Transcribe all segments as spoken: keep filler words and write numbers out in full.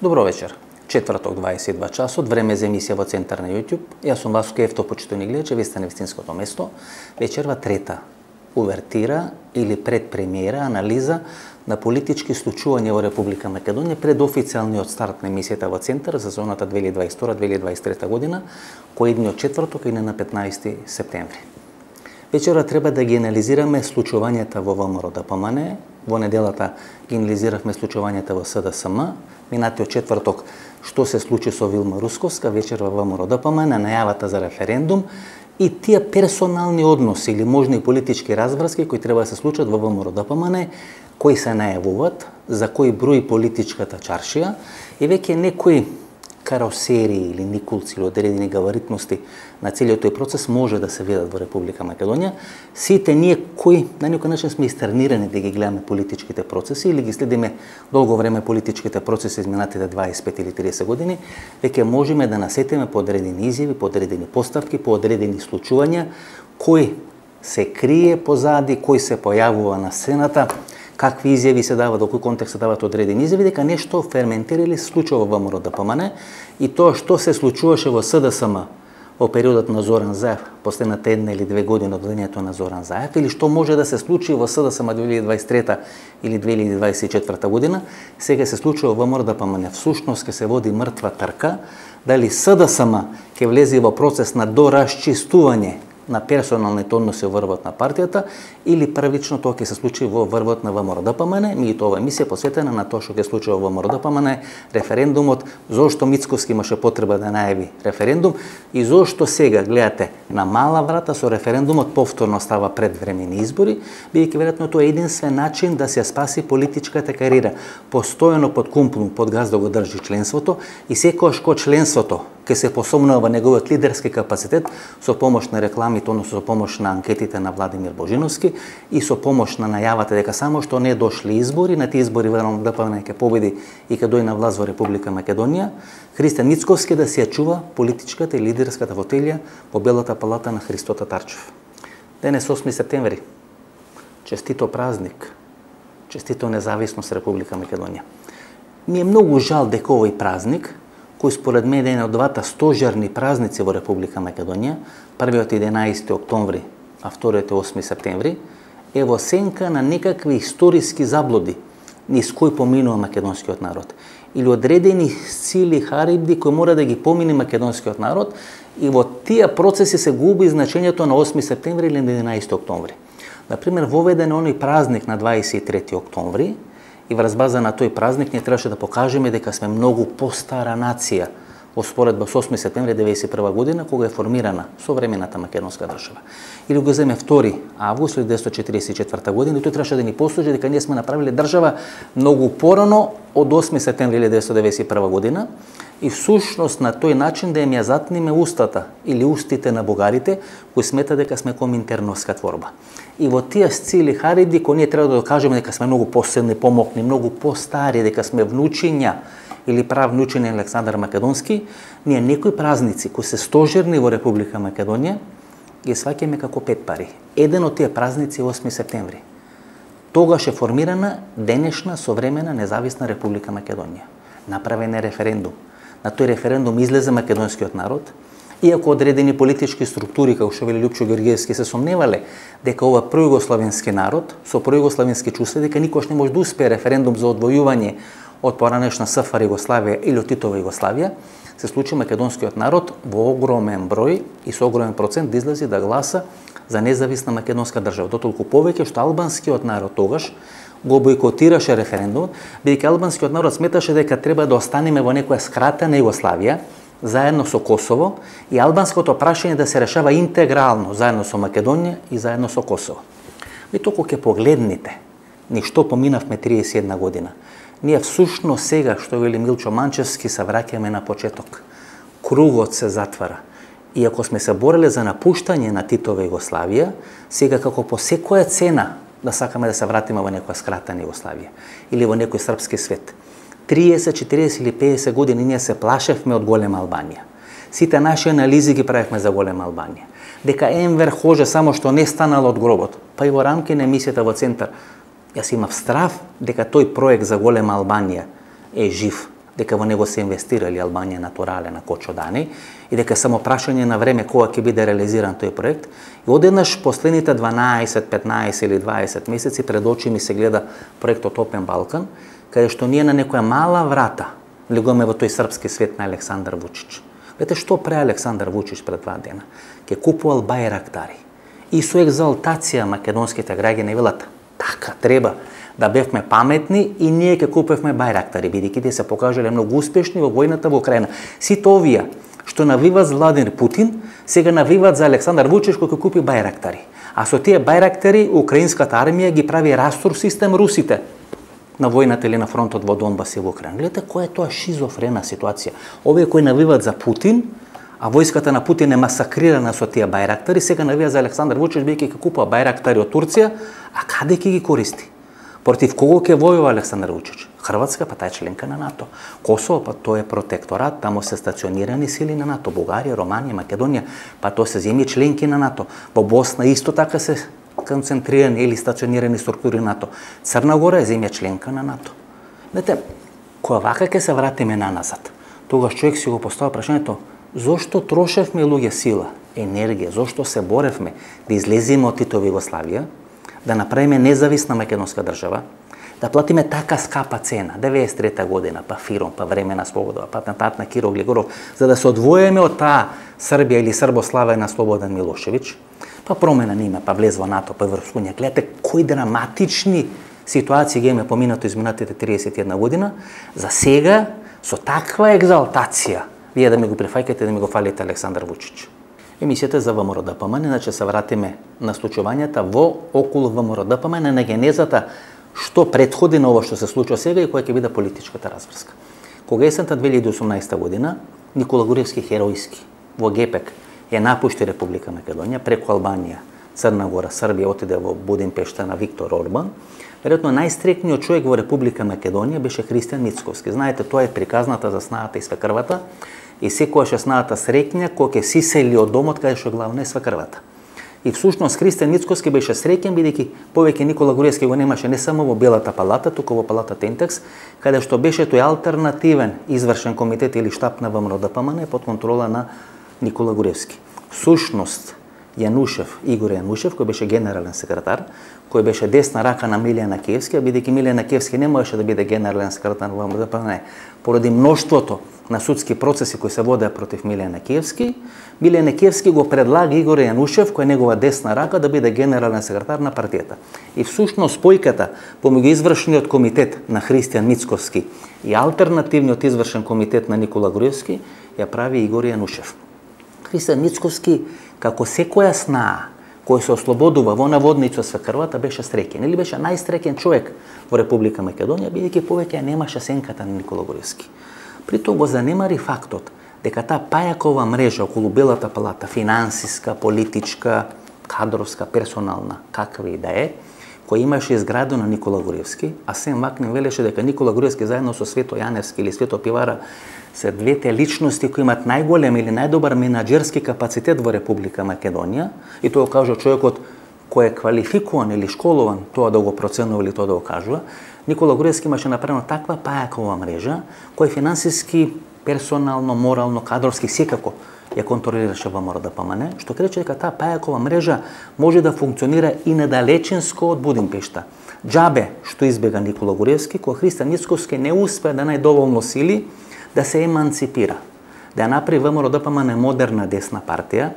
Добро вечер. Четврток дваесет и два часот, време за емисија во Центар на YouTube. Јас сум Васко Ефто, почитувани гледачи, вие сте на вистинското место. Вечерва трета увертира или предпремиера, анализа на политички случувања во Република Македонија пред официјалниот старт на емисијата во Центар за зоната две илјади дваесет и втора - две илјади дваесет и трета година, кој идниот четврток и на петнаесети септември. Вечера треба да ги анализираме случувањата во ВМРО-ДПМН. Во неделата ги анализиравме случувањата во СДСМ. Минатиот четврток што се случи со Вилма Русковска, вечер во ВМРО-ДПМН, најавата за референдум и тие персонални односи или можни политички разврски кои треба да се случат во ВМРО-ДПМН, кои се најавуваат, за кој брои политичката чаршија и веќе некои каросерии или никулци или одредени габаритности на целиот тој процес може да се видат во Република Македонија. Сите ние кои на некој начин сме истренирани да ги гледаме политичките процеси или ги следиме долго време политичките процеси изминатите дваесет и пет или триесет години, веќе можеме да насетиме по одредени изјави, по одредени поставки, по одредени случувања, кој се крие позади, кој се појавува на сцената, какви изјави се дават, во кој контекст се дават одредени изјави, дека нешто ферментира или се случува во ВМРО-ДПМН и тоа што се случуваше во СДСМ во периодот на Зоран Заев, последната една или две години од влењето на Зоран Заев, или што може да се случи во СДСМ две илјади дваесет и трета или две илјади дваесет и четврта година, сега се случува во ВМРО-ДПМН. Всушност ќе се води мртва трка, дали СДСМ ќе влезе во процес на доразчистување на персоналните односи во врвот на партијата или првично тоа ќе се случи во врвот на ВМРО-ДПМН. Ми тоа емисија посветена на тоа што ќе случува во ВМРО-ДПМН, референдумот, зошто Мицковски имаше потреба да најави референдум и зошто сега гледате на мала врата со референдумот повторно става предвремени избори, бидејќи веројатно тоа е единствен начин да се спаси политичката кариера. Постојано под кумплум, под газ да го држи членството и секогаш кога членството ќе се посомнува неговиот лидерски капацитет со помош на рекламите, односно со помош на анкетите на Владимир Божиновски и со помош на најавата дека само што не дошли избори, на тие избори веројатно ДПМН ќе победи и ќе дојде на власт во Република Македонија, Христијан Мицковски да се ја чува политичката и лидерската фотелја по Белата палата на Христо Татарчев. Денес осми септември. Честито празник. Честито независност Република Македонија. Ми е многу жал дека овој празник, кој според мене е еден од двата стожерни празници во Република Македонија, првиот е единаесети октомври, а вториот е осми септември, е во сенка на некакви историски заблуди низ кој поминува македонскиот народ. Или одредени сили харибди кои мора да ги помине македонскиот народ и во тие процеси се губи значењето на осми септември или на единаесети октомври. Например, воведен е оној празник на дваесет и трети октомври, и врз база на тој празник ние требаше да покажеме дека сме многу постара нација во споредба со осми септември деветдесет и прва година, кога е формирана современата македонска држава. Или го земе втори август деветстотини четиридесет и четврта година, и тој требаше да ни послужи дека ние сме направиле држава многу порано од осми септември деветстотини деветдесет и прва година, и всушност на тој начин да им ја затниме устата или устите на бугарите кои смета дека сме коминтерновска творба. И во тие цели харибди кои ние треба да докажеме дека сме многу посилни, помокни, многу постари, дека сме внучиња или правнучиња на Александар Македонски, ние некои празници кои се стожерни во Република Македонија ги сваќаме како пет пари. Еден од тие празници е осми септември. Тогаш е формирана денешна современа независна Република Македонија. Направен е референдум. На тој референдум излезе македонскиот народ, иако одредени политички структури, како што вели Лјупчо Георгиевски, се сомневале дека ова пројугославенски народ, со пројугославенски чувства, дека никош не може да успее референдум за одвојување од поранешна СФР Југославија или од Титова Југославија, се случи македонскиот народ во огромен број и со огромен процент да излезе да гласа за независна македонска држава. Дотолку повеќе што албанскиот народ тогаш го бойкотираше референдумот, бидејќи албанскиот народ сметаше дека треба да останеме во некоја скратена Југославија, заедно со Косово, и албанското прашање да се решава интегрално, заедно со Македонија и заедно со Косово. И току ќе погледнете ни што поминавме триесет и една година. Ние всушност сега, што вели Милчо Манчевски, се враќаме на почеток. Кругот се затвара. И ако сме се бореле за напуштање на Титова Југославија, сега како по секоја цена да сакаме да се вратиме во некоја скратена Југославија или во некој српски свет. триесет, четириесет или педесет години ние се плашевме од голема Албанија. Сите наши анализи ги правевме за голема Албанија. Дека Енвер Хоже само што не станал од гробот. Па и во рамки на емисијата во Центар, јас имав страв дека тој проект за голема Албанија е жив. дека во него се инвестирали Албанија натурале на Кочодани и дека само прашање на време кога ќе биде реализиран тој проект. И одеднаш последните дванаесет, петнаесет или дваесет месеци пред очи ми се гледа проектот Опен Балкан, каде што ние на некоја мала врата влегуваме во тој српски свет на Александар Вучич. Вете што прави Александар Вучич пред два дена? Ке купувал бајрактари. И со екзалтација македонските граѓани велат, така треба да бевме паметни и ние ќе купевме бајрактари, бидејќи тие се покажале многу успешни во војната во Украина. Сите овие што навиват за Владимир Путин, сега навиват за Александар Вучич кој ќе купи бајрактари. А со тие бајрактари украинската армија ги прави растур систем русите на војната или на фронтот во Донбас и во Украина. Гледате која е тоа шизофрена ситуација. Овие кои навиват за Путин, а војската на Путин е масакрирана со тие бајрактари, сега навија за Александар Вучич бидејќи ќе купува бајрактари од Турција, а каде ќе ги користи? Против кого ќе војува Александар Вучич? Хрватска, па тај е членка на НАТО. Косово, па тоа е протекторат, таму се стационирани сили на НАТО. Бугарија, Романија, Македонија, па тоа се земји членки на НАТО. Во Босна исто така се концентрирани или стационирани структури на НАТО. Црна Гора е земја членка на НАТО. Знаете, кога вака ќе се вратиме на назад, тогаш човек си го поставя прашањето, зошто трошевме луѓе сила, енергија, зошто се боревме да излеземе од Титова Југославија, да направиме независна македонска држава, да платиме така скапа цена, деветдесет и трета година, па Фиром, па време на слобода, па атентат на Киро Глигоров, за да се одвоиме од таа Србија или Србославија на Слободан Милошевиќ, па промена на име, па влез во НАТО, па Европска унија. Гледате кои драматични ситуации ги имаме поминато изминатите триесет и една година, за сега со таква екзалтација вие да ми го прифаќате, да ми го фалите Александар Вучич. Емисијата за ВМРО-ДПМН, иначе се вратиме на случувањата во околу ВМРО-ДПМН, на генезата што предходи на ова што се случува сега и која ќе биде политичката разврска. Кога есента две илјади и осумнаесета година, Никола Груевски херојски во Гепек ја напушти Република Македонија, преку Албанија, Црна Гора, Србија, отиде во Будимпешта на Виктор Орбан. Веројатно најстрекниот човек во Република Македонија беше Христијан Мицковски. Знаете, тоа е приказната за снаата и свекрвата, и секојаш е снаата среќна кога ќе си сели од домот каде што главна е свекрвата. И всушност Христијан Мицковски беше среќен бидејќи повеќе Никола Груевски го немаше не само во Белата палата, туку во палата Тентекс, каде што беше тој алтернативен извршен комитет или штаб на ВМРО-ДПМН под контрола на Никола Груевски. Всушност Јанушев, Игор Јанушев, кој беше генерален секретар, кој беше десна рака на Милијан Киевски, а бидејќи Милијан Киевски не можеше да биде генерален секретар на ВМРО-ДПМН, поради мноштвото на судски процеси кои се водеа против Милијан Киевски, Милијан Киевски го предлага Игор Јанушев, кој е негова десна рака, да биде генерален секретар на партијата. И всушност спојката помеѓу извршниот комитет на Христијан Мицковски и алтернативниот извршен комитет на Никола Груевски ја прави Игор Јанушев. Христијан Мицковски, како секоја снаа кој се ослободува во наводница свекрвата, беше среќен. Или беше најсреќен човек во Република Македонија, бидејќи повеќе немаше сенката на Никола Груевски. Притоа го занемари фактот дека таа пајакова мрежа околу Белата палата, финансиска, политичка, кадровска, персонална, каква и да е, која имаше изградено Никола Груевски, а Сем Макнин велеше дека Никола Груевски заедно со Свето Јаневски или Свето Пивара се двете личности кои имаат најголем или најдобар менаџерски капацитет во Република Македонија, и тоа кажа човекот кој е квалификуван или школован тоа да го проценува или тоа да го кажува. Никола Груевски имаше направено таква пајакова мрежа која финансиски, персонално, морално, кадровски секако ја контролираше ВМРО-ДПМН, што крече дека таа пајакова мрежа може да функционира и недалечинско од Будимпешта. Џабе што избега Никола Груевски, кога Христијан Мицковски не успеа да најде доволно сили да се еманципира, да ја направи ВМРО-ДПМН модерна десна партија,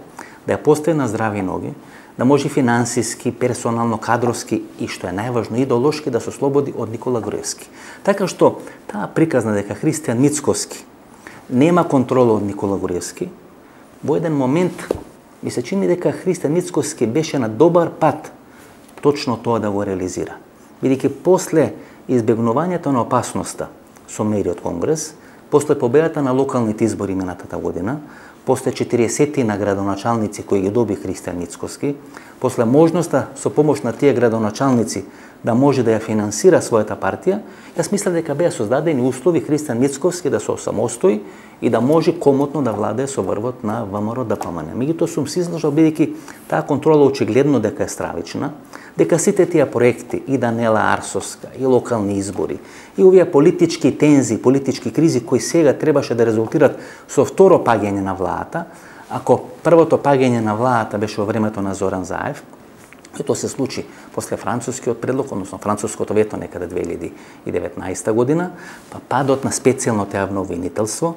да ја постави на здрави ноги, да може финансиски, персонално, кадровски и што е најважно идеолошки да се ослободи од Никола Груевски. Така што таа приказна дека Христијан Мицковски нема контрола од Никола Груевски, во еден момент ми се чини дека Христијан Мицковски беше на добар пат точно тоа да го реализира. Бидејќи после избегнувањето на опасноста со мериот Конгрес, после победата на локалните избори минатата година, после четириесет на градоначалници кои ги доби Христијан Мицковски, после можноста со помош на тие градоначалници да може да ја финансира својата партија, јас мислам дека беа создадени услови Христијан Мицковски да се осамостои и да може комотно да владее со врвот на ВМРО-ДПМН. Меѓутоа сум се излажал бидејќи таа контрола очигледно дека е стравична, дека сите тие проекти, и Данела Арсовска, и локални избори, и овие политички тензи, политички кризи кои сега требаше да резултират со второ паѓање на владата, ако првото паѓање на владата беше во времето на Зоран Заев, и тоа се случи после францускиот предлог, односно француското вето некаде две илјади и деветнаесета година, па падот на специјалното јавно обвинителство,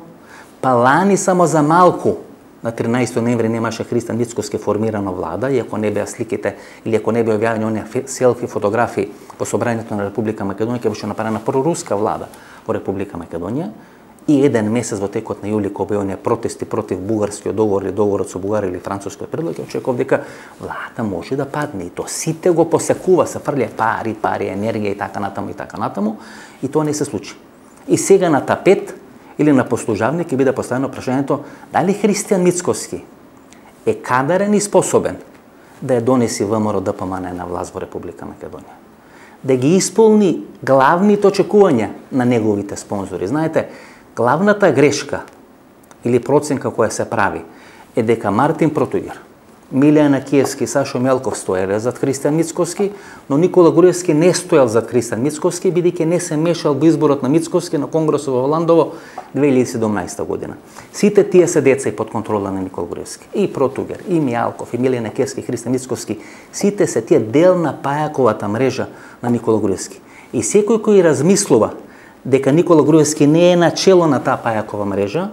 па лани само за малку на тринаесети ноември немаше Христијан Мицкоски формирана влада, и ако не беа сликите или ако не беа објавени оние селфи фотографии во собранието на Република Македонија, ќе беше направена проруска влада во Република Македонија. И еден месец во текот на јули, кога беа оние протести против бугарскиот договор или договорот со Бугарија или францускиот предлог, ќе очекував дека владата може да падне, и то сите го посекува, се фрле пари, пари, енергија и така натаму и така натаму, и тоа не се случи. И сега на тапет или на послужавник ќе биде поставено прашањето дали Христијан Мицкоски е кадарен и способен да ја донеси ВМРО Д П М Н на власт во Република Македонија, да ги исполни главните очекувања на неговите спонзори. Знаете, главната грешка или проценка која се прави е дека Мартин Протуѓер, Милијан Киевски и Сашо Мелков стоеле зад Христијан Мицкоски, но Никола Груевски не стоел зад Христијан Мицкоски, бидејќи не се мешал во изборот на Мицкоски на Конгресот во Ландово две илјади и седумнаесета година. Сите тие се деца и под контрола на Никола Груевски. И Протуѓер, и Мијалков, и Милијан Киевски, и Христијан Мицкоски, сите се тие дел на пајаковата мрежа на Никола Груевски. И секој кој размислува дека Никола Груевски не е начело на таа пајакова мрежа,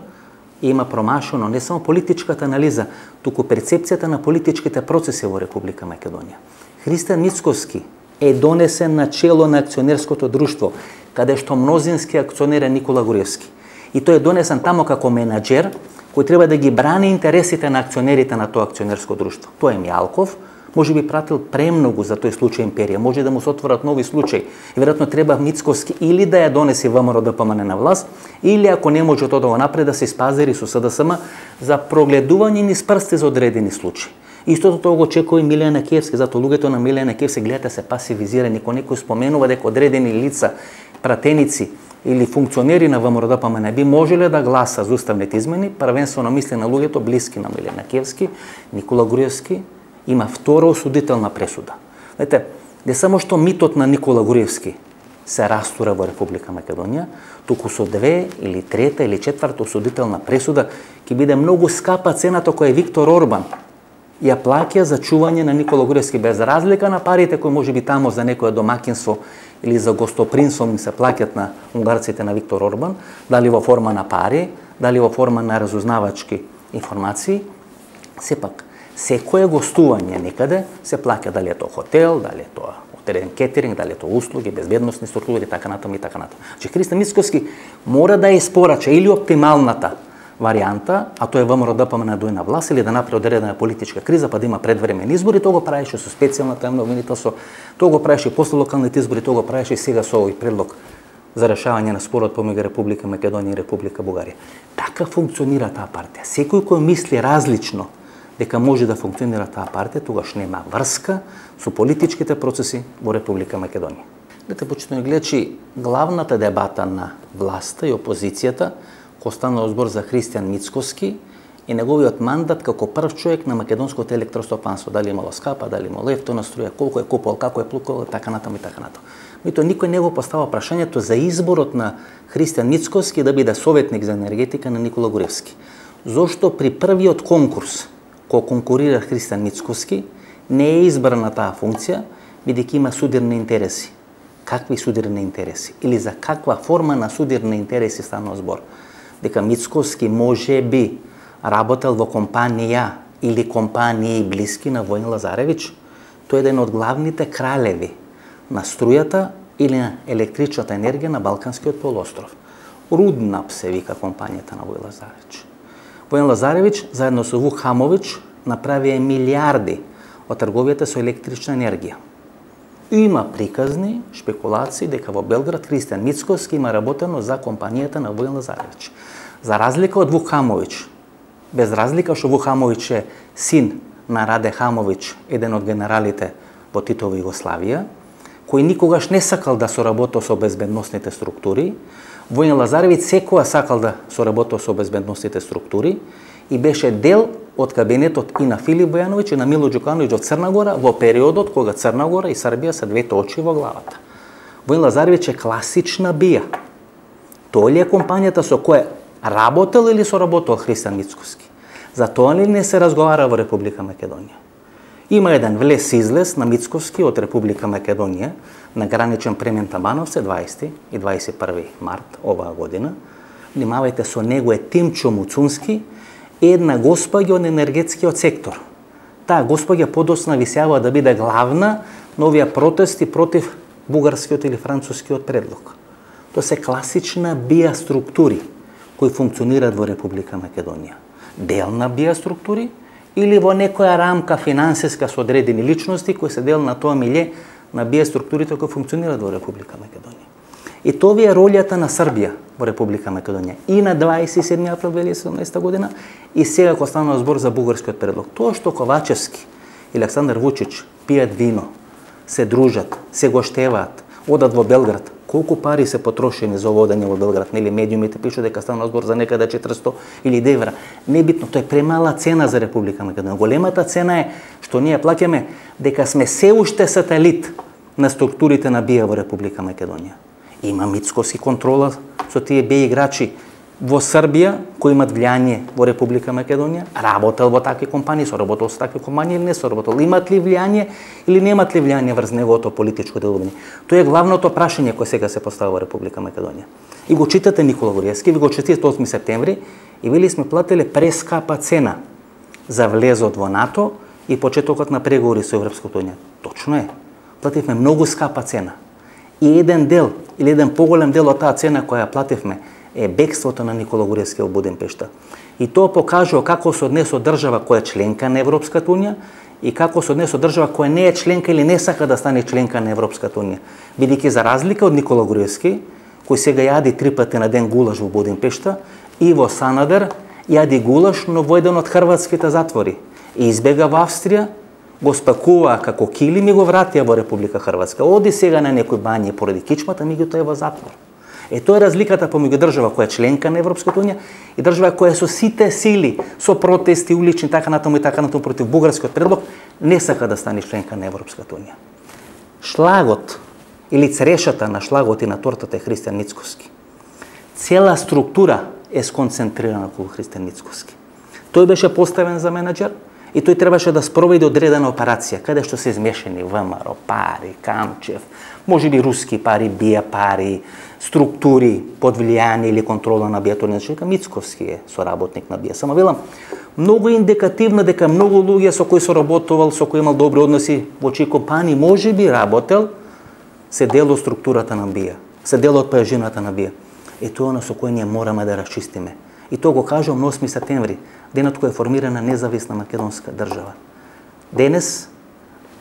има промашено не само политичката анализа, туку перцепцијата на политичките процеси во Република Македонија. Христијан Мицкоски е донесен на чело на акционерското друштво, каде што мнозински акционер е Никола Груевски. И тој е донесен тамо како менаџер, кој треба да ги брани интересите на акционерите на тоа акционерско друштво. Тоа е Мијалков, може би пратил премногу за тој случај империја, може да му се отворат нови случаи. И веројатно треба Мицкоски или да ја донеси ВМРО Д П М Н на власт, или ако не може тоа да го направи, да се испазери со С Д С М за прогледување низ прсти за одредени случаи. Истото тоа го очекува и Милијан Киевски, затоа луѓето на Милијан Киевски гледате се пасивизирани, кога некој споменува дека одредени лица, пратеници или функционери на ВМРО Д П М Н би можеле да гласа за уставните измени, првенствено мисли на луѓето блиски на Милијан Киевски, Никола Груевски има втора осудителна пресуда. Знаете, не само што митот на Никола Груевски се растура во Република Македонија, туку со две или трета или четврта осудителна пресуда ќе биде многу скапа цената која Виктор Орбан ја плаќа за чување на Никола Груевски, без разлика на парите кои може би тамо за некое домакинство или за гостопринство им се плаќат на унгарците на Виктор Орбан, дали во форма на пари, дали во форма на разузнавачки информации. Сепак, секое гостување некаде се плаќа, дали е тоа хотел, дали е тоа одреден кетеринг, дали е тоа услуги, безбедносни структури, така натаму и така натаму. Че Христијан Мицкоски мора да ја испорача или оптималната варијанта, а тоа е ВМРО Д П М Н дојде на власт, или да направи одредена политичка криза, па да има предвремени избори. Тоа го правеше со специјалната јавно обвинителство, тоа го правеше после локалните избори, тоа го правеше и сега со овој предлог за решавање на спорот помеѓу Република Македонија и Република Бугарија. Така функционира таа партија. Секој кој мисли различно дека може да функционира таа партија, тогаш нема врска со политичките процеси во Република Македонија. Дете, почитувани гледачи, главната дебата на власта и опозицијата, кој станува збор за Христијан Мицкоски и неговиот мандат како прв човек на македонското електростопанство, дали имало скапа, дали имало ефтина струја, колку е купувал, како е плукувал, така натаму и така натаму. Меѓутоа никој не го поставува прашањето за изборот на Христијан Мицкоски да биде советник за енергетика на Никола Груевски. Зошто при првиот конкурс кој конкурира Христијан Мицкоски, не е избран на таа функција, бидејќи има судирни интереси. Какви судирни интереси? Или за каква форма на судирни интереси станува збор? Дека Мицкоски може би работел во компанија или компании блиски на Воин Лазаревич, тој е еден од главните кралеви на струјата или на електричната енергија на Балканскиот полуостров. Руднап се вика компанијата на Воин Лазаревич. Воин Лазаревич, заедно со Вук Хамович, направија милиарди од трговијата со електрична енергија. Има приказни, шпекулации дека во Белград Христијан Мицкоски има работено за компанијата на Воин Лазаревич. За разлика од Вук Хамович, без разлика што Вук Хамович е син на Раде Хамович, еден од генералите во Титова Југославија, кој никогаш не сакал да соработи со безбедносните структури, Воин Лазаревич секоја сакал да соработи со безбедносните структури и беше дел од кабинетот и на Филип Бојановиќ и на Мило Џукановиќ во Црна Гора во периодот кога Црна Гора и Србија се двете очи во главата. Воин Лазаревиќ е класична бија. Тој ли е компанијата со која работел или соработил Христијан Мицкоски? За тоа ли не се разговара во Република Македонија? Има еден влез-излез на Мицкоски од Република Македонија на граничен премин Табановце дваесети и дваесет и први март оваа година. Внимавајте, со него е Тимчо Муцунски, една госпоѓа од енергетскиот сектор. Таа госпоѓа подоцна висела да биде главна на овие протести против бугарскиот или францускиот предлог. Тоа се класична бија структури кои функционираат во Република Македонија. Дел на бија структури или во некоја рамка финансиска со одредени личности кои се дел на тоа милје на бија структурите кои функционираат во Република Македонија. И тоа е ролјата на Србија во Република Македонија и на дваесет и седми април две илјади и седумнаесета година и сега кога станува збор за бугарскиот предлог. Тоа што Ковачевски и Александар Вучич пијат вино, се дружат, се гоштеваат, одат во Белград, колку пари се потрошени за одење во Белград, нели медиумите пишат дека станува збор за некаде четиристо илјади евра. Небитно, тоа е премала цена за Република Македонија. Големата цена е што ние плаќаме дека сме се уште сателит на структурите на бија во Република Македонија. Има Мицкоски контрола со тие беј играчи во Србија кои имат влијание во Република Македонија, работел во такви компании, соработел со такви компании или не соработел, имат ли влијание или немат ли влијание врз неговото политичко делување. Тоа е главното прашање кое сега се поставува во Република Македонија. И го читате Никола Груевски, ви го читате осми септември и вели сме плателе прескапа цена за влезот во НАТО и почетокот на преговори со Европската унија. Точно е. Плативме многу скапа цена. И еден дел или еден поголем дел од таа цена која плативме е бегството на Никола Груевски во Будимпешта. И тоа покажува како се однесува држава која е членка на Европската унија и како се однесува држава која не е членка или не сака да стане членка на Европската унија. Бидејќи за разлика од Никола Груевски, кој сега јади три пати на ден гулаш во Будимпешта, Иво Санадер јади гулаш, но во еден од хрватските затвори. И избега во Австрија, го спакува како килим и го вратија во Република Хрватска. Оди сега на некој бање поради кичмата, меѓутоа е во затвор. Е, тоа е разликата помеѓу држава која е членка на Европската унија и држава која со сите сили, со протести улични, така натаму и така натаму против бугарскиот предлог, не сака да стане членка на Европската унија. Шлагот или црешата на шлагот и на тортата е Христијан Мицкоски. Цела структура е сконцентрирана околу Христијан Мицкоски. Тој беше поставен за менаџер и тој требаше да спроведе одредена операција, каде што се измешани ВМРО, пари, Камчев, можеби руски пари, бија пари, структури под влијание или контрола на бија. Тоа Мицкоски е соработник на бија. Само велам, многу индикативно дека многу луѓе со кои соработувал, со кои имал добри односи во чии компании можеби работел, се дел од структурата на бија, се дел од пајажината на бија. И тоа е со кој ние мораме да расчистиме. И тоа го кажувам на осми септември, денот кој е формирана независна македонска држава. Денес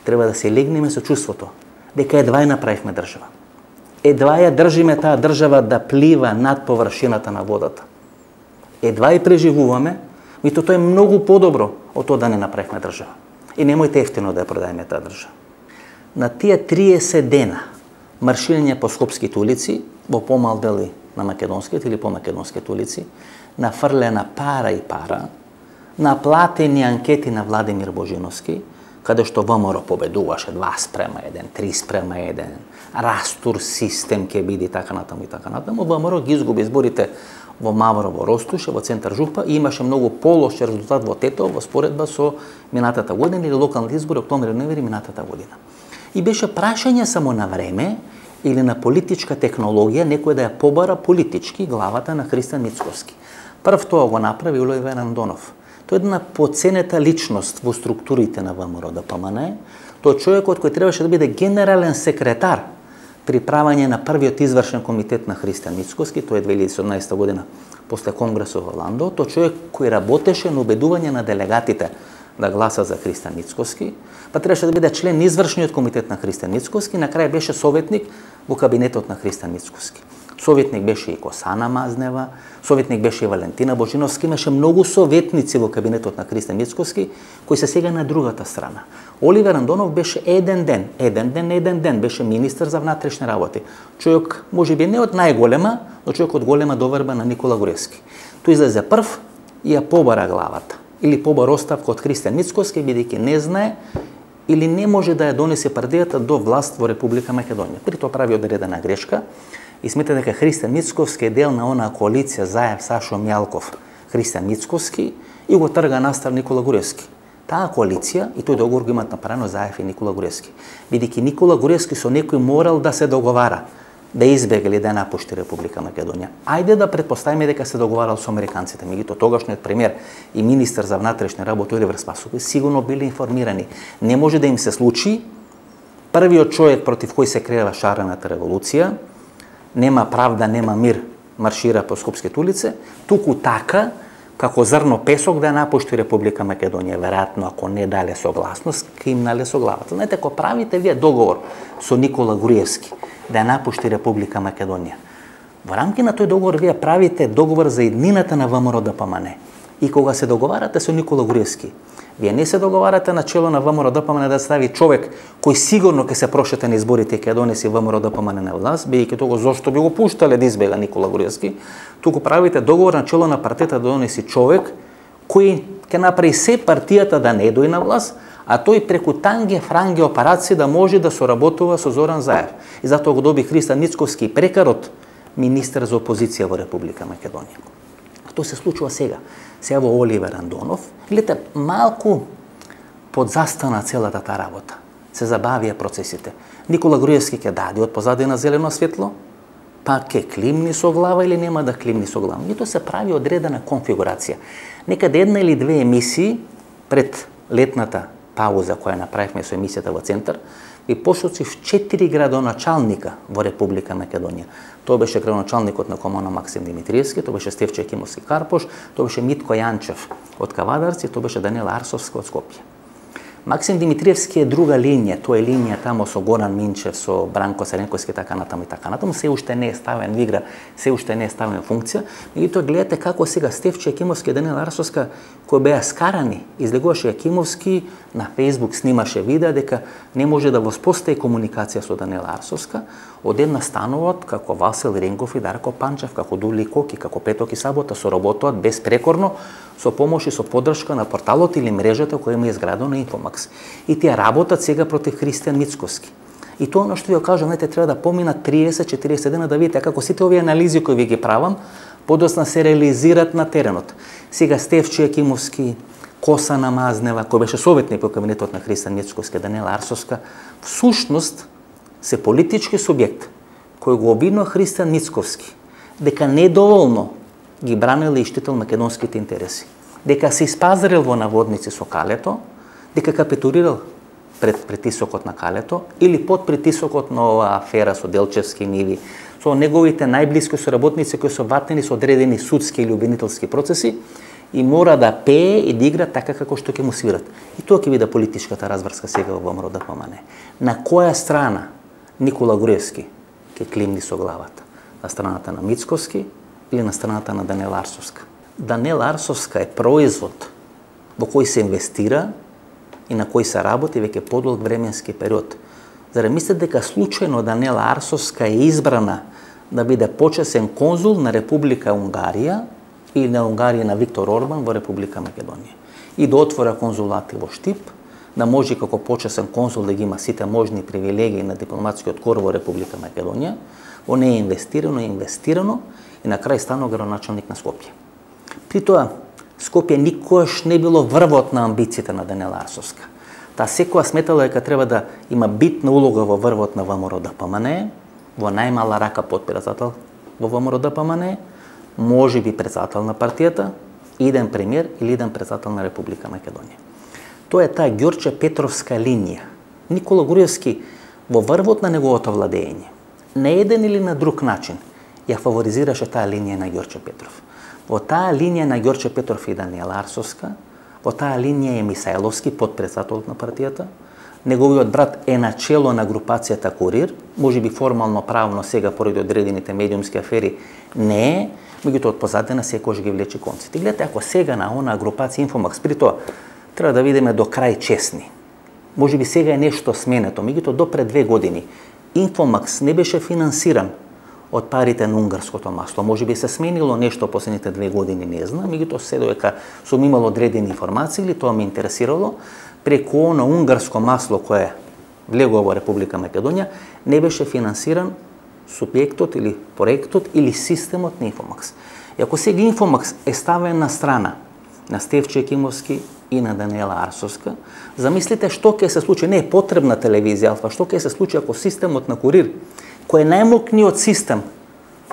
треба да се легнеме со чувството дека едва ја направивме држава. Едва ја држиме таа држава да плива над површината на водата. Едва ја преживуваме, и тоа е многу подобро од тоа да не направивме држава. И немојте ефтино да ја продајме таа држава. На тие триесет дена марширање по скопските улици, во помал дели на македонските или по македонските улици, нафрлена пара и пара, наплатени анкети на Владимир Божиновски, каде што ВМРО победуваше два спрема еден, три спрема еден, растур систем ќе биде така натаму и така натаму, ВМРО ги изгуби изборите во Маврово, Ростуше, во центар Жупа и имаше многу полош резултат во Тетово во споредба со минатата година или локалните избори октомври-ноември минатата година. И беше прашање само на време или на политичка технологија некој да ја побара политички главата на Христијан Мицкоски. Прв тоа го направи Оливер Андонов. Тој е една поценета личност во структурите на ВМРО Д П М Н. Тој човекот кој требаше да биде генерален секретар при правење на првиот извршен комитет на Христијан Мицкоски, тоа е две илјади и седумнаесета година после конгресот во Ландо. Тој човек кој работеше на убедување на делегатите да гласа за Христијан Мицкоски, па требаше да биде член на извршниот комитет на Христијан Мицкоски, на крај беше советник во кабинетот на Христијан Мицкоски. Советник беше и Косана Мазнева, советник беше и Валентина Божиновски, имаше многу советници во кабинетот на Христијан Мицкоски, кои се сега на другата страна. Оливер Андонов беше еден ден, еден ден, еден ден, беше министер за внатрешни работи. Човек, можеби не од најголема, но човек од голема доверба на Никола Груевски. Тој излезе прв и ја побара главата. или побар оставка од Христијан Мицкоски, бидејќи не знае или не може да ја донесе партијата до власт во Република Македонија. При тоа прави одредена грешка и смета дека Христијан Мицкоски е дел на онаа коалиција Заев, Сашо Мјалков, Христијан Мицкоски и го трга настав Никола Гурески. Таа коалиција и тој договор го имаат направено Заев и Никола Гурески. Бидејќи Никола Гурески со некој морал да се договара, да избега или да напушти Република Македонија. Ајде да претпоставиме дека се договарал со американците, меѓутоа тогашниот премиер и министер за внатрешни работи Оливер Спасовски сигурно биле информирани. Не може да им се случи првиот човек против кој се крева шарената револуција, нема правда, нема мир, маршира по скопските улице, туку така како зрно песок да напушти Република Македонија. Веројатно, ако не дале согласност, кимнале со главата. Знаете, ако правите вие договор со Никола Груевски да напушти Република Македонија, во рамки на тој договор вие правите договор за иднината на ВМРО Д П М Н. И кога се договарате со Никола Груевски, вие не се договарате на чело на ВМРО Д П М Н да стави човек кој сигурно ќе се прошете на изборите и ќе донеси ВМРО Д П М Н на власт, бидејќи тоа зошто би го пуштале да избега Никола Груевски, туку правите договор на чело на партијата да донеси човек кој ќе направи се партијата да не дојде на власт, а тој преку танге франге операции да може да соработува со Зоран Заев. И затоа го доби Христијан Мицкоски прекарот министер за опозиција во Република Македонија. Тоа се случува сега. Сега во Оливер Андонов, гледате, малку подзастана целата таа работа. Се забавија процесите. Никола Груевски ќе даде од позадина зелено светло, па ќе климни со глава или нема да климни со глава. И тоа се прави одредена конфигурација. Некаде една или две емисии пред летната пауза која направивме со емисијата во Центар, и посоцив четири градоначалника во Република Македонија. Тоа беше градоначалникот на комуна Максим Димитриевски, тоа беше Стефче Екимовски Карпош, тоа беше Митко Јанчев од Кавадарци, тоа беше Даниел Арсовски од Скопје. Максим Димитриевски е друга линија, тоа е линија тамо со Горан Минчев, со Бранко Саренковски, така натаму и така натаму, се уште не е ставен во игра, се уште не е ставен во функција. Меѓутоа гледате како сега Стефче Екимовски и Даниел Арсовска кои беа скарани, излегуваше Екимовски на Facebook, снимаше видеа дека не може да воспостави комуникација со Даниела Арсовска, одедна стануваат како Васил Ренгов и Дарко Панчев, како Дули Коки, како Петок и Сабота, соработуваат безпрекорно со помош и со поддршка на порталот или мрежата која има изградена Инфомакс. И тие работат сега против Христијан Мицкоски. И тоа што ви го кажам, знаете, треба да поминат триесет до четириесет дена да видите како сите овие анализи кои ви ги правам, подоцна се реализираат на теренот. Сега Стефче Екимовски, Косана Мазнева, кој беше советник во кабинетот на Христијан Мицкоски, Даниела Арсовска, всушност се политички субјект кој го обвинува Христијан Мицкоски дека недоволно ги бранел и штител македонските интереси, дека се испазарил во наводници со Калето, дека капитулирал пред притисокот на Калето или под притисокот на оваа афера со Делчевски ниви, со неговите најблиски соработници кои се ватени со одредени судски или обвинителски процеси и мора да пее и да игра така како што ќе му свират. И тоа ќе биде политичката разврска сега во ВМРО Д П М Н. На која страна Никола Груевски ќе климни со главата? На страната на Мицкоски или на страната на Даниела Арсовска? Даниела Арсовска е производ во кој се инвестира и на кој се работи веќе подолг временски период. Зарем мислите дека случајно Даниела Арсовска е избрана да биде почесен конзул на Република Унгарија или на Унгарија на Виктор Орбан во Република Македонија и да отвора конзулати во Штип, да може како почесен конзул да ги има сите можни привилегии на дипломатскиот кор во Република Македонија, во не е инвестирано, е инвестирано и на крај станува градоначалник на Скопје. При тоа, Скопје никош не било врвот на амбициите на Даниела Арсовска. Таа секоја сметала дека треба да има битна улога во врвот на ВМРО Д П М Н, во најмала рака подпредседател во ВМРО Д П М Н, може би председател на партијата, иден премиер или иден председател на Република Македонија. Тоа е таа Ѓорче Петровска линија. Никола Груевски во врвот на неговото владење, на еден или на друг начин, ја фаворизираше таа линија на Ѓорче Петров. Во таа линија на Ѓорче Петров и Даниела Арсовска, во таа линија е Мисајловски, подпредседателот на партијата, неговиот брат е начело на групацијата Курир, може би формално правно сега поради одредените медиумски афери не е, меѓутоа од позадина секојаш ги влече конците. Гледате, ако сега на онаа групација Инфомакс, при тоа треба да видиме до крај честни. Може би сега е нешто сменето, меѓутоа до пред две години Инфомакс не беше финансиран од парите на унгарското масло. Може би се сменило нешто последните две години, не знам, меѓутоа се додека сум имал одредени информации или тоа ме интересирало, преку на унгарско масло кое влегува во Република Македонија, не беше финансиран субјектот или проектот или системот на Инфомакс. И ако сега Инфомакс е ставен на страна на Стефче Екимовски и на Даниела Арсовска, замислите што ќе се случи, не е потребна телевизија Алфа, што ќе се случи ако системот на Курир, кој е најмокниот систем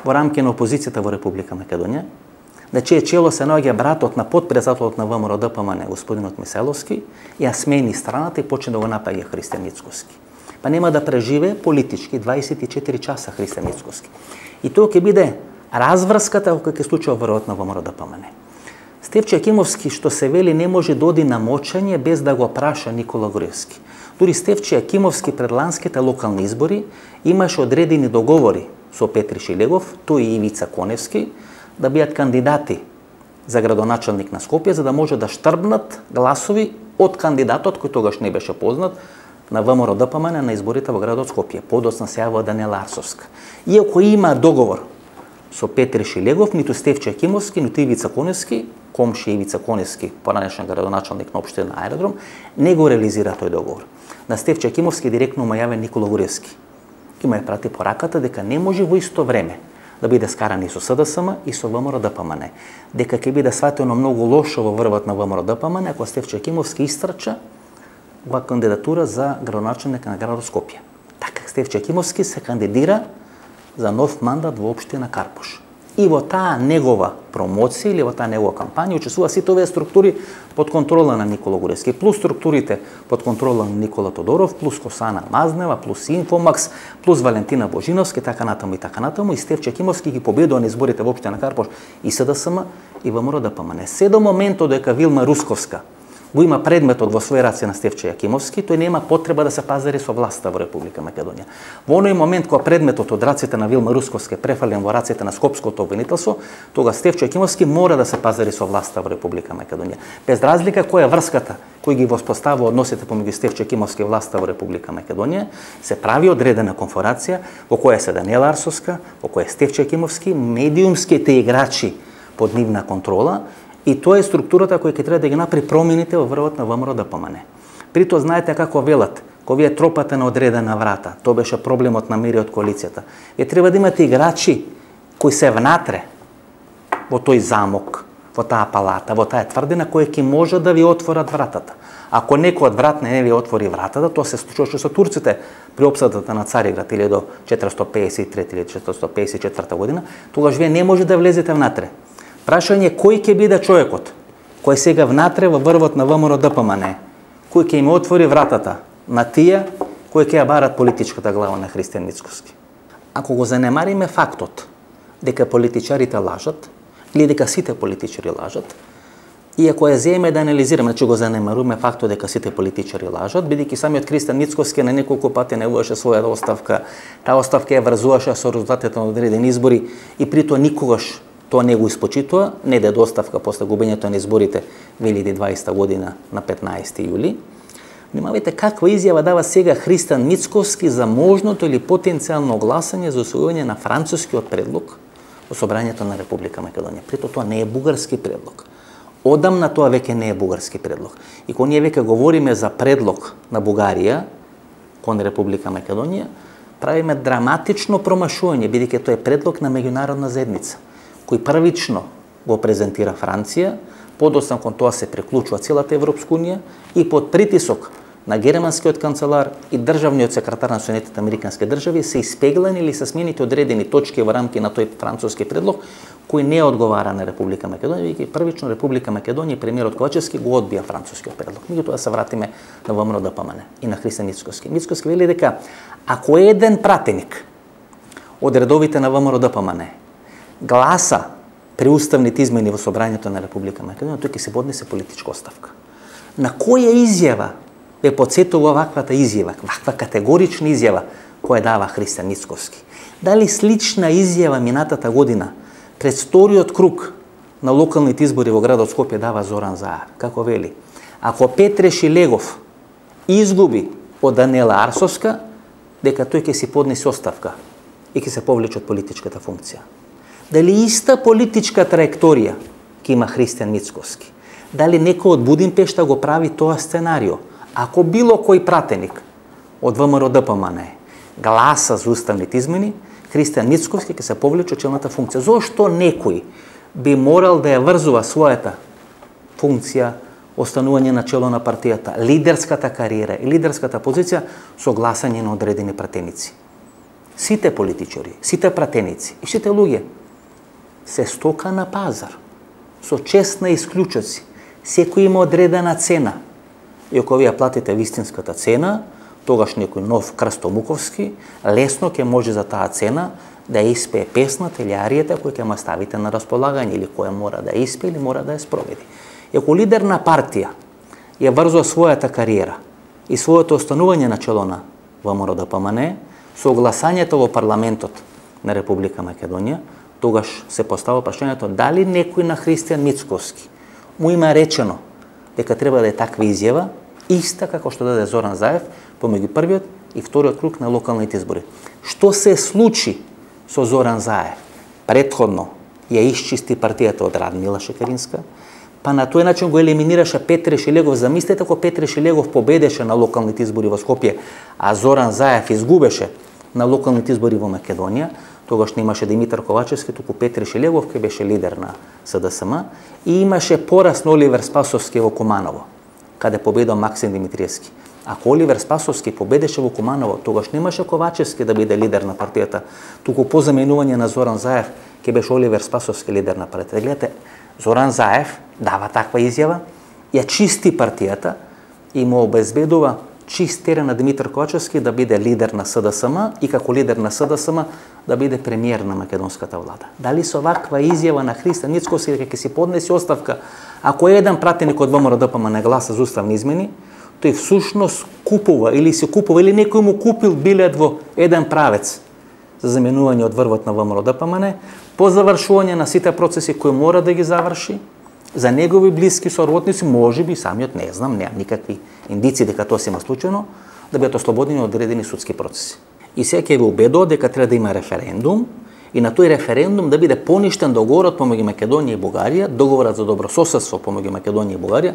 во рамки на опозицијата во Република Македонија, на чие чело се наоѓа братот на потпредседателот на ВМРО Д П М Н, господинот Миселовски, ја смени страната и почне да го напаѓа Христијан Мицкоски. Па нема да преживе политички дваесет и четири часа Христијан Мицкоски. И тоа ќе биде разврската која ќе случува во род на ВМРО Д П М Н. Стефче Екимовски, што се вели, не може да оди на мочење без да го праша Никола Груевски. Дури Стефче Екимовски пред ланските локални избори имаше одредени договори со Петри Шилегов, тој и Ивица Коневски, да бидат кандидати за градоначалник на Скопје, за да може да штрбнат гласови од кандидатот кој тогаш не беше познат на ВМРО Д П М Н на изборите во градот Скопје. Подоцна се јавува Даниела Арсовска. Иако има договор со Петри Шилегов, ниту Стефче Екимовски, ниту Ивица Коневски, комши Ивица Коневски, поранешен градоначалник на општина Аеродром, не го реализира тој договор. На Стефче Екимовски директно му јавен Никола Груевски. И му ја прати пораката дека не може во исто време да биде скаран и со С Д С М и со ВМРО Д П М Н. Дека ќе биде сватено многу лошо во врвот на ВМРО Д П М Н ако Стефче Екимовски истрча во кандидатура за градоначалник на градот Скопје. Така Стефче Екимовски се кандидира за нов мандат во општина Карпуш. И во таа негова промоција или во таа негова кампања учествува сите овие структури под контрола на Никола Груевски, плюс структурите под контрола на Никола Тодоров, плюс Косана Мазнева, плюс Инфомакс, плюс Валентина Божиновски, така натаму и така натаму, и Стефче Екимовски ги победува на изборите во општина Карпуш и С Д С М и ВМРО Д П М Н. Се до моментот дека Вилма Русковска го има предметот во своји раце на Стефче Екимовски, тој нема потреба да се пазари со власта во Република Македонија. Во оној момент кога предметот од раците на Вилма Русковска е префален во раците на Скопското обвинителство, тога Стефче Екимовски мора да се пазари со власта во Република Македонија. Без разлика која е врската кој ги воспоставува односите помеѓу Стефче Екимовски и власта во Република Македонија, се прави одредена конференција во која се Даниела Арсовска, во која е Стефче Екимовски, медиумските играчи под нивна контрола. И тоа е структурата која ќе треба да ги направи промените во врвот на ВМРО Д П М Н. При тоа знаете како велат, кога вие тропате на одредена врата, тоа беше проблемот на мири од коалицијата. Вие треба да имате играчи кои се внатре во тој замок, во таа палата, во таа тврдина која ќе може да ви отворат вратата. Ако некој од врат не ви отвори вратата, тоа се случуваше со турците при опсадата на Цариград или до четиристотини песет и трета или четиристотини песет и четврта година, тогаш вие не може да влезете внатре. Прашање кој ќе биде човекот кој сега внатре во врвот на ВМРО Д П М Н, кој ќе им отвори вратата на тие кои ќе ја барат политичката глава на Христијан Мицкоски. Ако го занемариме фактот дека политичарите лажат или дека сите политичари лажат, и ако ја земеме да анализираме, значи го занемаруваме фактот дека сите политичари лажат, бидејќи самиот Христијан Мицкоски на неколку пати најавуваше својата оставка, таа оставка ја врзуваше со резултатите на одредени избори и при тоа никогаш тоа не го испочитува, не даде оставка после губењето на изборите две илјади и дваесета година на петнаесети јули. Внимавајте каква изјава дава сега Христијан Мицкоски за можното или потенцијално гласање за усвојување на францускиот предлог во собранието на Република Македонија. Прито тоа не е бугарски предлог. Одамна тоа веќе не е бугарски предлог. И кога ние веќе говориме за предлог на Бугарија кон Република Македонија, правиме драматично промашување, бидејќи тоа е предлог на меѓународна заедница, кој првично го презентира Франција, подоцна кон тоа се приклучува целата Европска унија и под притисок на германскиот канцелар и државниот секретар на Соединетите американски држави се испеглани или се сменити одредени точки во рамки на тој француски предлог кој не одговара на Република Македонија, веќе првично Република Македонија и премиерот Ковачевски го одбија францускиот предлог. Меѓутоа се вратиме на ВМРО Д П М Н и на Христијан Мицкоски. Мицкоски вели дека ако еден пратеник од редовите на ВМРО Д П М Н гласа при уставните измени во собранието на Република Македонија, тој ќе се поднесе политичка оставка. На која изјава ве потсетува ваквата изјава, ваква категорична изјава која дава Христијан Мицкоски? Дали слична изјава минатата година пред вториот круг на локалните избори во градот Скопје дава Зоран Заев? Како вели? Ако Петре Шилегов изгуби од Даниела Арсовска, дека тој ќе си поднесе оставка и ќе се повлече од политичката функција. Дали иста политичка траекторија ќе има Христијан Мицкоски? Дали некој од Будимпешта го прави тоа сценарио? Ако било кој пратеник од ВМРО Д П М Н гласа за уставните измени, Христијан Мицкоски ќе се повлече од челната функција. Зошто некој би морал да ја врзува својата функција, останување на чело на партијата, лидерската кариера и лидерската позиција со гласање на одредени пратеници? Сите политичари, сите пратеници и сите луѓе се стока на пазар, со честна исклучоци. Секој има одредена цена. И ако вие платите вистинската цена, тогаш некој нов Крстомуковски лесно ќе може за таа цена да ја испее песната или аријата која ќе ма ставите на располагање или која мора да ја испее или мора да ја спроведи. И ако лидер на партија ја врзува својата кариера и своето останување на чело на ВМРО Д П М Н со гласањето во парламентот на Република Македонија, тогаш се постава прашањето дали некој на Христијан Мицкоски му има речено дека треба да е таква изјава, иста како што даде Зоран Заев помеѓу првиот и вториот круг на локалните избори. Што се случи со Зоран Заев? Претходно ја исчисти партијата од Радмила Шекеринска, па на тој начин го елиминираше Петре Шилегов. Замислете ако Петре Шилегов победеше на локалните избори во Скопје, а Зоран Заев изгубеше на локалните избори во Македонија, тогаш немаше Димитар Ковачевски, туку Петре Шилегов кој беше лидер на С Д С М и имаше пораз на Оливер Спасовски во Куманово, каде победил Максим Димитриевски. Ако Оливер Спасовски победеше во Куманово, тогаш немаше Ковачевски да биде лидер на партијата, туку по заменување на Зоран Заев ќе беше Оливер Спасовски лидер на партијата. Гледате, Зоран Заев дава таква изјава, ја чисти партијата и му обезбедува чист терен на Димитар Ковачевски да биде лидер на С Д С М и како лидер на С Д С М да биде премиер на македонската влада. Дали со ваква изјава на Христијан Мицкоски дека ќе си поднесе оставка, ако еден пратеник од ВМРО Д П М не гласа за уставни измени, тој всушност купува или се купува или некој му купил билет во еден правец за заменување од врвот на ВМРО Д П М Н, по завршување на сите процеси кои мора да ги заврши, за негови блиски соработници, можеби самиот не знам, немам никакви индици дека тоа се има случајно, да бидат ослободени од одредени судски процеси. И сега ќе ви убедува дека треба да има референдум и на тој референдум да биде поништен договорот помеѓу Македонија и Бугарија, договорот за добрососедство помеѓу Македонија и Бугарија,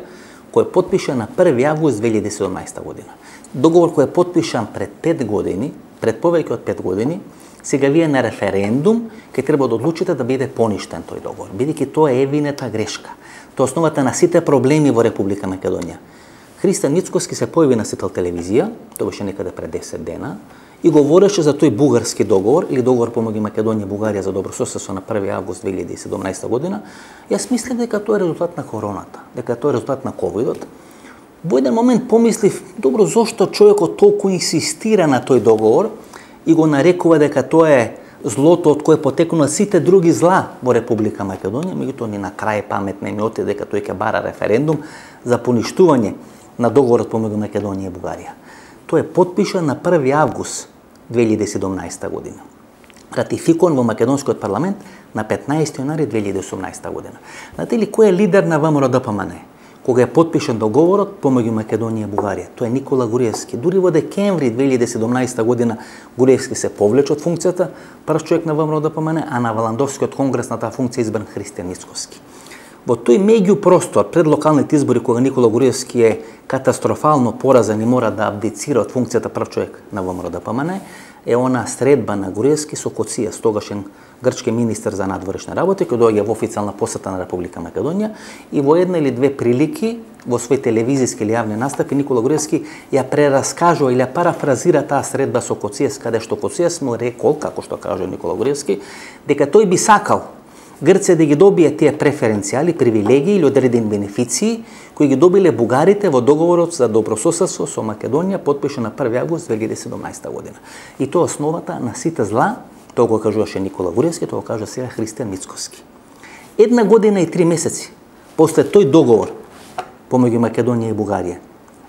кој е потпишан на први август две илјади и седумнаесета година. Договор кој е потпишан пред пет години, пред повеќе од пет години, сега вие на референдум ќе треба да одлучите да биде поништен тој договор, бидејќи тоа е евината грешка. Тоа е основата на сите проблеми во Република Македонија. Христијан Мицкоски се појави на Сител телевизија, тоа беше некаде пред десет дена, и говореше за тој бугарски договор или договор помеѓу Македонија и Бугарија за добрососедство на први август две илјади и седумнаесета година. Јас мислев дека тоа е резултат на короната, дека тоа е резултат на ковидот. Во еден момент помислив, добро, зошто човекот толку инсистира на тој договор и го нарекува дека тоа е злото од кое потекнува сите други зла во Република Македонија, меѓутоа ни на крај памет не ми оти дека тој ќе бара референдум за поништување на договорот помеѓу Македонија и Бугарија. Тој е потпишан на први август две илјади и седумнаесета година. Ратификуван во македонскиот парламент на петнаесети јаnuари две илјади и осумнаесета година. Знаете ли кој е лидер на ВМРО Д П М Н? Кога е потпишан договорот помеѓу Македонија и Бугарија, тоа е Никола Груевски. Дури во декември две илјади и седумнаесета година Груевски се повлече од функцијата, прв човек на ВМРО Д П М Н, а на Валандовскиот конгрес на таа функција избран Христијан Мицкоски. Во тој меѓупростор пред локалните избори, кога Никола Груевски е катастрофално поразен и мора да абдицира од функцијата прв човек на ВМРО Д П М Н, е она средба на Груевски со Коцијас, тогашен грчки министер за надворешни работи, кој доаѓа во официјална посета на Република Македонија и во една или две прилики во свој телевизиски или јавни настапи Никола Груевски ја прераскажува или ја парафразира таа средба со Коцијас, каде што Коцијас му рекол, како што кажа Никола Груевски, дека тој би сакал Грција да ги добие тие преференцијали, привилегии или одредени бенефиции кои ги добиле бугарите во договорот за добрососедство со Македонија, потпишан на први август две илјади и седумнаесета година. И тоа е основата на сите зла, тоа го кажуваше Никола Груевски, тоа го кажа сега Христијан Мицкоски. Една година и три месеци после тој договор помеѓу Македонија и Бугарија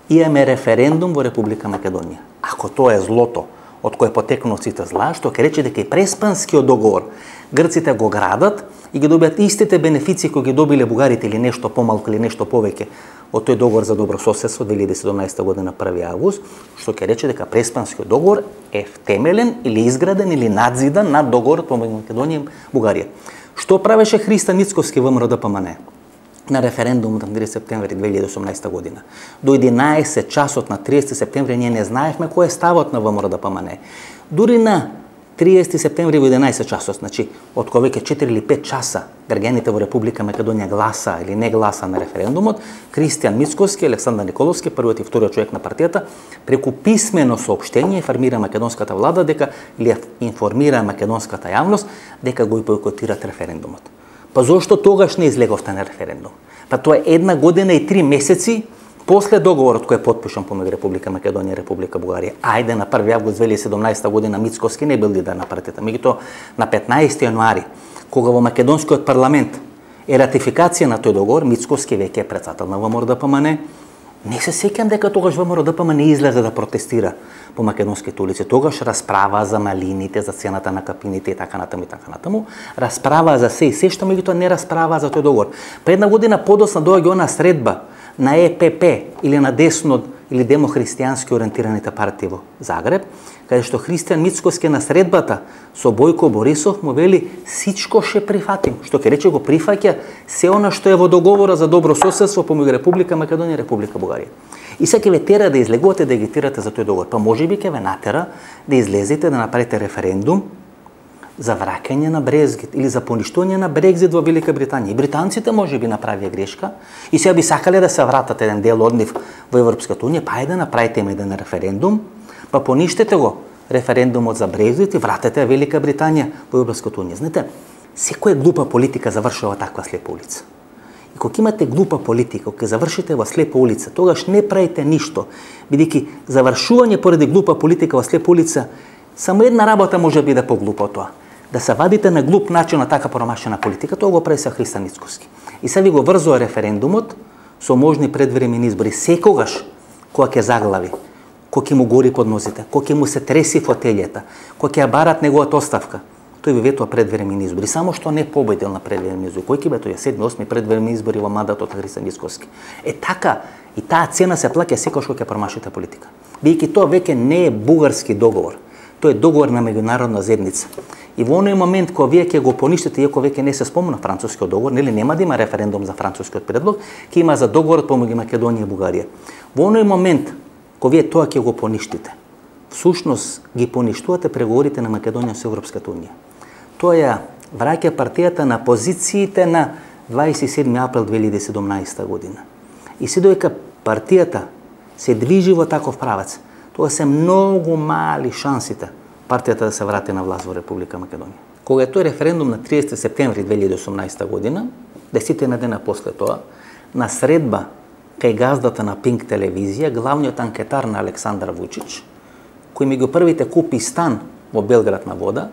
имаме референдум во Република Македонија. Ако тоа е злото од кое потекнува сите зла, што ќе рече дека и Преспанскиот договор грците го градат и ги добијат истите бенефиции кои ги добиле бугарите или нешто помалку или нешто повеќе од тој договор за добро соседство две илјади и седумнаесета година први август, што ќе рече дека Преспанскиот договор е втемелен или изграден или надзидан над договорот помеѓу Македонија и Бугарија. Што правеше Христо Мицковски во ВМРДПМН на референдумот на триесети септември две илјади и осумнаесета година? До единаесет часот на триесети септември ние не знаевме кој е ставот на ВМРДПМН. Дури на триесети септември во единаесет часот, значи од кога веќе четири или пет часа граѓаните во Република Македонија гласа или не гласа на референдумот, Христијан Мицковски, Александар Николовски, првиот и вториот човек на партијата, преку писмено соопштение информира македонската влада дека или информира македонската јавност дека го бойкотират референдумот. Па зошто тогаш не излеговте на референдум? Па тоа е една година и три месеци после договорот кој е потпишан помеѓу Република Македонија и Република Бугарија. Ајде на први август две илјади и седумнаесета година Мицковски не бил лидер на партијата. Меѓутоа на петнаесети јануари, кога во македонскиот парламент е ратификација на тој договор, Мицковски веќе е председател на ВМРДПМН. Не се сеќам дека тогаш ВМРДПМН излезе да протестира по македонските улици. Тогаш расправа за малините, за цената на капините и така натаму и така натаму. Расправа за се и се што, меѓутоа не расправа за тој договор. Па една година подоцна доаѓа она средба на Е Пе Пе или на десно или демохристијански ориентираните партии во Загреб, каде што Христијан Мицковски на средбата со Бојко Борисов му вели сичко ше прифатим, што ќе рече го прифаќа се она што е во договорот за добро соседство помеѓу Република Македонија и Република Бугарија. И сега ќе ве тера да излегувате да агитирате за тој договор, па можеби ќе ве натера да излезете да направите референдум за враќање на Брекзит или за поништување на Брекзит во Велика Британија. И британците можеби направија грешка и сега би сакале да се вратат еден дел од нив во Европската унија, па ајде направите им еден референдум, па поништете го референдумот за Брекзит и вратете Велика Британија во Европската унија. Знаете, секоја глупа политика завршува таква слепа улица. И кога имате глупа политика, кога завршите во слепа улица, тогаш не правите ништо, бидејќи завршување поради глупа политика во слепа улица, само една работа може би да поглупа тоа. Да се вадите на глуп начин на така промашена политика, тоа го прави се Христо Мицковски. И се ви го врзува референдумот со можни предвремени избори. Секогаш кога ќе заглави, кога ќе му гори под нозите, кога ќе му се треси фотелјата, кога ќе ја барат неговата оставка, тој ви ветува предвремени избори. Само што не победил на предвремени избори. Кој ќе бе тој седми, осми предвремени избори во мандатот на Христо Мицковски. Е така, и таа цена се плаќа секогаш кога ќе промашите политика. Бидејќи тоа веќе не е бугарски договор. Тоа е договор на меѓународна заедница. И во оној момент кога вие ќе го поништите, иако веќе не се спомна францускиот договор, нели нема да има референдум за францускиот предлог, ќе има за договорот помеѓу Македонија и Бугарија. Во оној момент кога вие тоа ќе го поништите, всушност ги поништувате преговорите на Македонија со Европската унија. Тоа ја враќа партијата на позициите на дваесет и седми април две илјади и седумнаесета година. И се додека партијата се движи во таков правец, тоа се многу мали шансите партијата да се врати на власт во Република Македонија. Кога е тој референдум на триесети септември две илјади и осумнаесета година, десетина дена после тоа, на средба кај газдата на Пинк телевизија, главниот анкетар на Александар Вучич, кој меѓу првите купи стан во Белград на вода,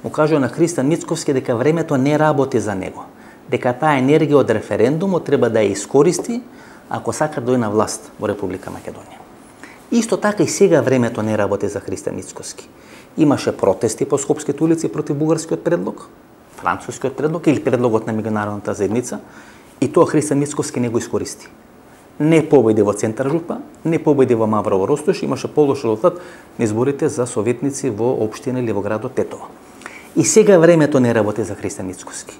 му кажува на Христо Мицковски дека времето не работи за него, дека таа енергија од референдумот треба да ја искористи ако сака да дојде на власт во Република Македонија. Исто така и сега времето не работи за Христо Мицковски. Имаше протести по скопските улици против бугарскиот предлог, францускиот предлог или предлогот на меѓународната заедница, и тоа Христо Мицковски не го искористи. Не победи во Центар жупа, не победи во Маврово Ростош, имаше полош резултат на изборите за советници во општина или во градот Тетово. И сега времето не работи за Христо Мицковски.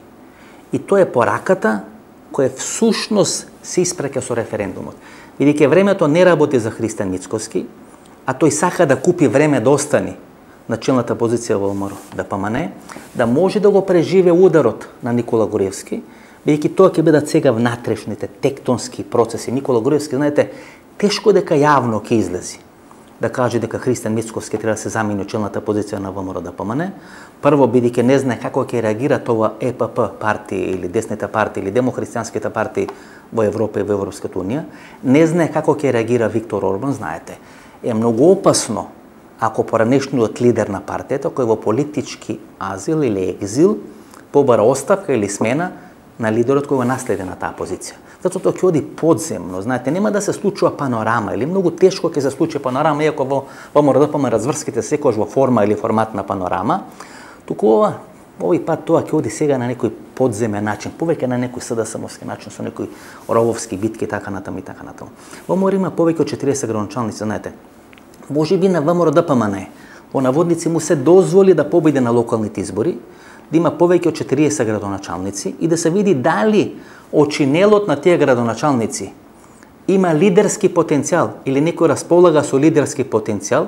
И тоа е пораката која всушност се испраќа со референдумот. Бидејќи времето не работи за Христо Мицковски, а тој сака да купи време да остани на челната позиција во ВМРДПМН, да може да го преживе ударот на Никола Груевски, бидејќи тоа ќе бидат сега внатрешните тектонски процеси. Никола Груевски, знаете, тешко дека јавно ќе излези да каже дека Христо Мицковски треба да се замени од челната позиција на ВМРДПМН. Прво, бидејќи не знае како ќе реагира тоа Е Пе Пе партии или десните партии или демохристијанските партии во Европа и во Европската унија, не знае како ќе реагира Виктор Орбан, знаете. Е многу опасно ако поранешниот лидер на партијата, кој во политички азил или екзил, побара оставка или смена на лидерот кој го наследи на таа позиција. Затоа тоа ќе оди подземно, знаете, нема да се случува панорама или многу тешко ќе се случи панорама, иако во ВМРДПМН разврските секогаш во форма или формат на панорама, туку ова Овој пат тоа ќе оди сега на некој подземен начин, повеќе на некој СДСМовски начин, со некои рововски битки, така натаму и така натаму. ВМРО има повеќе од четириесет градоначалници, знаете. Може би на ВМРО-ДПМН во наводници му се дозволи да победи на локалните избори, да има повеќе од четириесет градоначалници и да се види дали очинелот на тие градоначалници има лидерски потенцијал или некој располага со лидерски потенцијал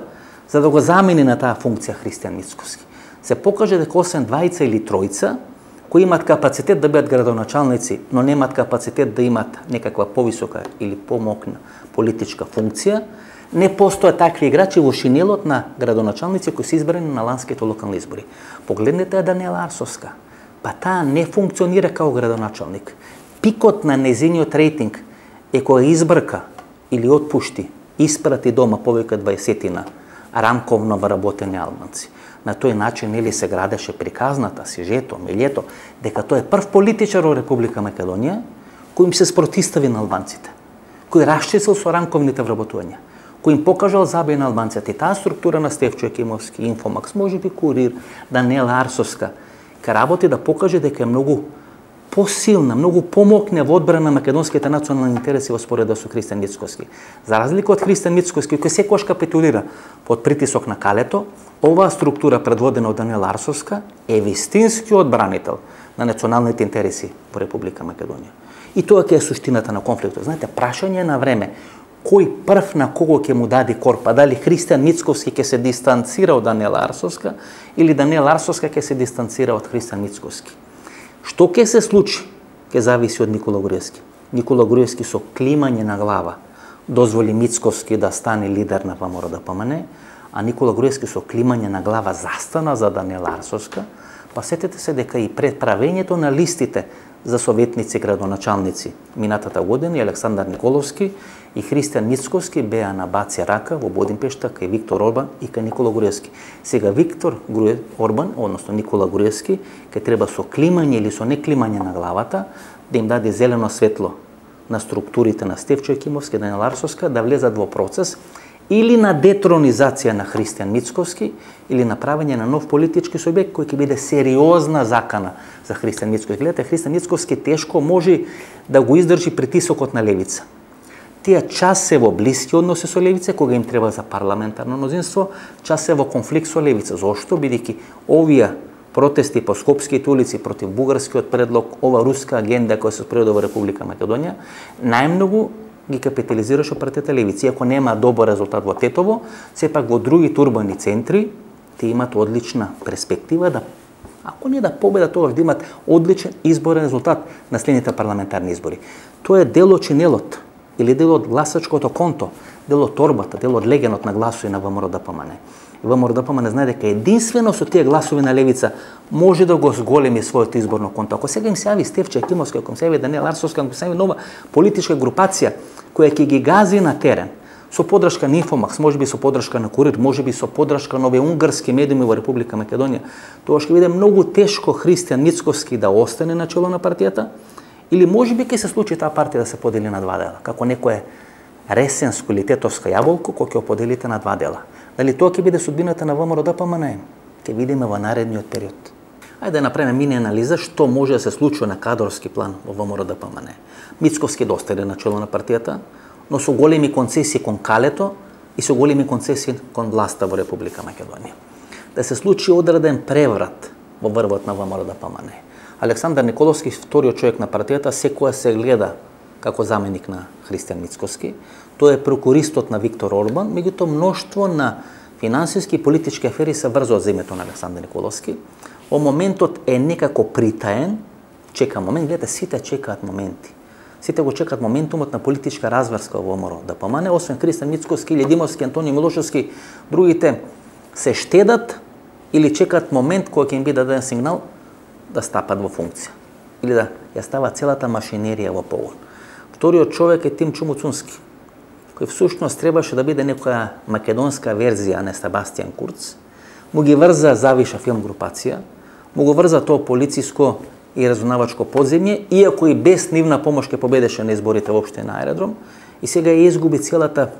за да го замени на таа функција Христијан Мицкоски. Се покаже дека освен двајца или тројца кои имат капацитет да бидат градоначалници, но немат капацитет да имат некаква повисока или помокна политичка функција, не постојат такви играчи во шинелот на градоначалници кои се избрани на ланските локални избори. Погледнете Даниела Арсовска, па таа не функционира као градоначалник. Пикот на незиниот рейтинг е кога избрка или отпушти, испрати дома повеќе дваесетина рамковно вработени албанци. На тој начин нели се градеше приказната, сюжето, милјето, дека тој е прв политичар во Република Македонија кој им се спротистави на албанците, кој расчистил со рамковните вработувања, кој им покажал забај на албанците. И таа структура на Стефчо Екимовски, Инфомакс, може би Курир, Даниела Арсовска, ка работи да покаже дека е многу посилна, многу помокне во одбрана на македонските национални интереси во споредба со Христијан Мицкоски. За разлика од Христијан Мицкоски, кој секогаш капитулира под притисок на калето, оваа структура предводена од Даниела Арсовска е вистински одбранител на националните интереси во Република Македонија. И тоа ќе е суштината на конфликтот. Знаете, прашање на време кој прв на кого ќе му даде корпа, дали Христијан Мицкоски ќе се дистанцира од Даниела Арсовска или Даниела Арсовска ќе се дистанцира од Христијан Мицкоски. Што ќе се случи, ќе зависи од Никола Груевски. Никола Груевски со климање на глава дозволи Мицкоски да стане лидер на ВМРО-ДПМН, а Никола Груевски со климање на глава застана за Даниела Арсовска. Па сетете се дека и пред правењето на листите за советници, градоначалници минатата година, Александар Николовски и Христијан Мицкоски беа на баци рака во Будимпешта кај Виктор Орбан и кај Никола Груевски. Сега Виктор Орбан, односно Никола Груевски, ќе треба со климање или со неклимање на главата да им даде зелено светло на структурите на Стефчо Екимовски и Даниела Арсовска да влезат во процес или на детронизација на Христијан Мицкоски, или на правење на нов политички субјект кој ќе биде сериозна закана за Христијан Мицкоски. Гледате, Христијан Мицкоски тешко може да го издржи притисокот на левица. Тие час се во блиски односи со левица, кога им треба за парламентарно мнозинство, час се во конфликт со левица. Зошто? Бидејќи овие протести по скопските улици против бугарскиот предлог, ова руска агенда која се спроведе во Република Македонија, најмногу ги капитализираше партијата левица. Иако нема добар резултат во Тетово, сепак во другите урбани центри те имат одлична перспектива да, ако не да победа, тоа да имат одличен изборен резултат на следните парламентарни избори. Тоа е дел од чинелот или дел од гласачкото конто, дел од торбата, дел од легенот на гласови на ВМРО-ДПМН. И ВМРО-ДПМН знае дека единствено со тие гласови на левица може да го зголеми своето изборно конто. Ако сега им се јави Стефчо Екимовски, ако им се јави Даниела Арсовска, ако им се јави нова политичка групација која ќе ги гази на терен, со подршка на Инфомакс, можеби со подршка на Курир, можеби со подршка на овие унгарски медиуми во Република Македонија, тоа ќе биде многу тешко Христијан Мицкоски да остане на чело на партијата, или можеби ќе се случи таа партија да се подели на два дела, како некое ресенско или тетовска јаболко кој ќе поделите на два дела. Дали тоа ќе биде судбината на ВМРО-ДПМН? Ќе видиме во наредниот период. Ајде да направиме мини анализа што може да се случи на кадрски план во ВМРО-ДПМН. Мицкоски да остане на чело на партијата, но со големи концесии кон калето и со големи концесии кон власта во Република Македонија. Да се случи одреден преврат во врвот на ВМРО-ДПМН. Александар Николовски, вториот човек на партијата, секоја се гледа како заменик на Христијан Мицкоски. Тој е прокуристот на Виктор Орбан, меѓутоа мноштво на финансиски и политички афери се врзуваат за името на Александар Николовски. Во моментот е некако притаен, чека момент, гледате, сите чекаат моменти. Сите го чекаат моментумот на политичка разврска во ВМРО-ДПМН, освен Христијан Мицкоски, Ледимовски, Антонио Милошевски, другите се штедат или чекаат момент кој ќе им биде даден сигнал да стапат во функција или да ја стават целата машинерија во погон. Вториот човек е Тим Чумуцунски, кој всушност требаше да биде некоја македонска верзија на Себастијан Курц, му ги врза Завиша филм групација, му го врза тоа полициско и разузнавачко подземје, иако и без нивна помош ќе победеше на изборите воопште на аеродром, и сега ја изгуби целата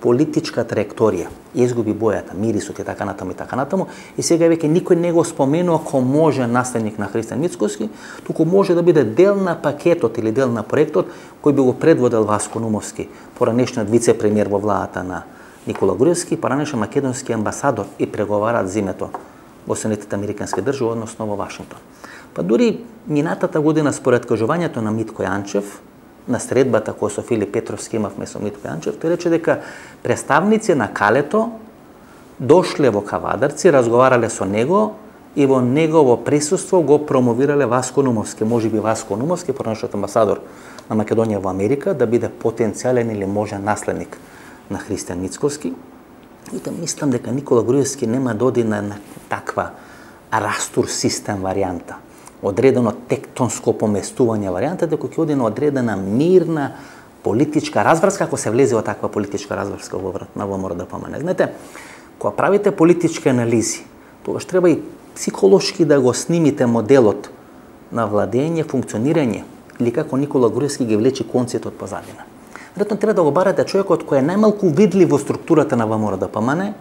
политичка траекторија, изгуби бојата, мирисот и така натаму и така натаму, и сега веќе никој не го споменува како може наследник на Христијан Мицкоски, туку може да биде дел на пакетот или дел на проектот кој би го предводел Васко Нумовски, поранешниот вице-премиер во владата на Никола Груевски, поранешен македонски амбасадор и преговарат зимето во Соединетите американски држави, односно во Вашингтон. Па дури минатата година според кажувањето на Митко Јанчев, на средбата која со Филип Петровски имавме со Митко Јанчев, тој рече дека представници на Калето дошле во Кавадарци, разговарале со него и во негово присуство го промовирале Васко Нумовски. Можеби Васко Нумовски, поранешниот амбасадор на Македонија во Америка, да биде потенцијален или можен наследник на Христијан Мицкоски. И да мислам дека Никола Груевски нема да оди на таква растур систем варијанта, одредено тектонско поместување варијанта, дека ќе оди на одредена мирна политичка разврска, ако се влезе во таква политичка разврска во врат на ВМРО-ДПМН. Знаете, кога правите политички анализи, тогаш треба и психолошки да го снимите моделот на владење, функционирање, или како Никола Груевски ги влечи конците од позадина. Веројатно треба да го барате човекот кој е најмалку видлив во структурата на ВМРО-ДПМН,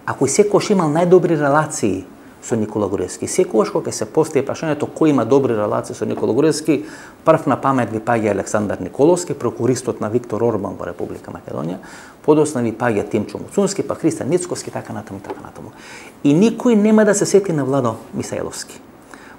а кој секогаш имал најдобри релации со Никола Груевски. Секогаш кога се постави прашањето кој има добри релации со Никола Груевски, прв на памет ви паѓа Александар Николовски, прокуристот на Виктор Орбан во Република Македонија, подоцна ви паѓа Тимчо Муцунски, па Христијан Мицкоски, така натаму, така натаму. И никој нема да се сети на Владо Мисаиловски.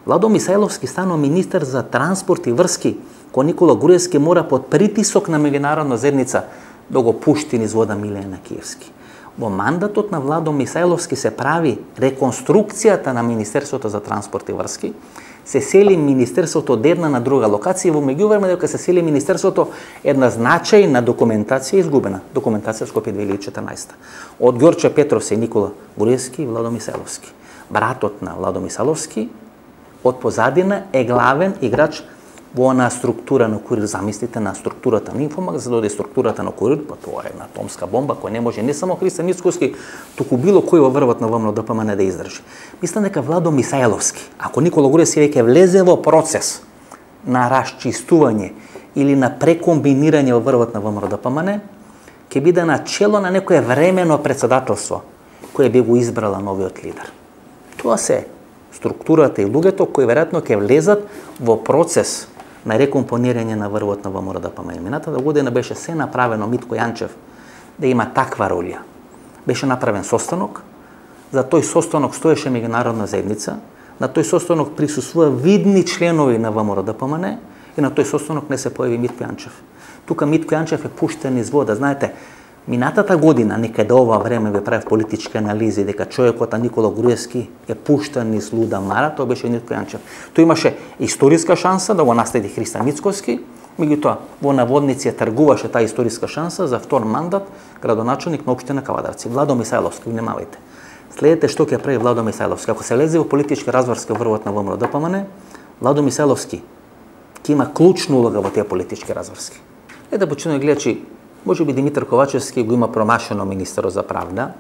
Владо Мисаиловски станува министер за транспорт и врски, кој Никола Груевски мора под притисок на меѓународна заедница да го пушти низ вода Милена Киевски. Во мандатот на Владо Мисаиловски се прави реконструкцијата на Министерството за транспорт и врски, се сели Министерството од една на друга локација и во меѓувреме дека се сели Министерството, една значајна документација изгубена, документација Скопје две илјади и четрнаесета. Од Ѓорче Петровсе и Никола Груевски и Владо Мисаиловски. Братот на Владо Мисаиловски од позадина е главен играч во она структура на Курир. Замислите на структурата на Инфомак, за да оди структурата на Курир, па тоа е една атомска бомба која не може не само Христијан Мицкоски, туку било кој во врвот на ВМРО-ДПМН да издржи. Мислам дека Владо Мисаиловски, ако Никола Груевски веќе влезе во процес на расчистување или на прекомбинирање во врвот на ВМРО-ДПМН, ќе биде на чело на некое времено председателство кое би го избрала новиот лидер. Тоа се структурата и луѓето кои веројатно ќе влезат во процес на рекомпонирање на врвот на ВМРО-ДПМН. Минатата година беше се направено Митко Јанчев да има таква роля. Беше направен состанок, за тој состанок стоеше меѓународна заедница, на тој состанок присуствува видни членови на ВМРО-ДПМН и на тој состанок не се појави Митко Јанчев. Тука Митко Јанчев е пуштен низ вода. Знаете, минатата година, некаде ова време ве правев политички анализи дека човекот Никола Груевски е пуштен низ луда мара, тоа беше Митко Јанчев. Тој имаше историска шанса да го наследи Христијан Мицкоски, меѓутоа во наводници тргуваше таа историска шанса за втор мандат градоначелник на општина Кавадарци. Владо Мисаиловски, внимавајте. Следете што ќе прави Владо Мисаиловски. Ако се лезе во политичка разврска врвот на ВМРО-ДПМН, Владо Мисаиловски ќе има клучна улога во тие политички разврски. Е да почнеме гледачи, може би Димитар Ковачевски го има промашено министерот за правда,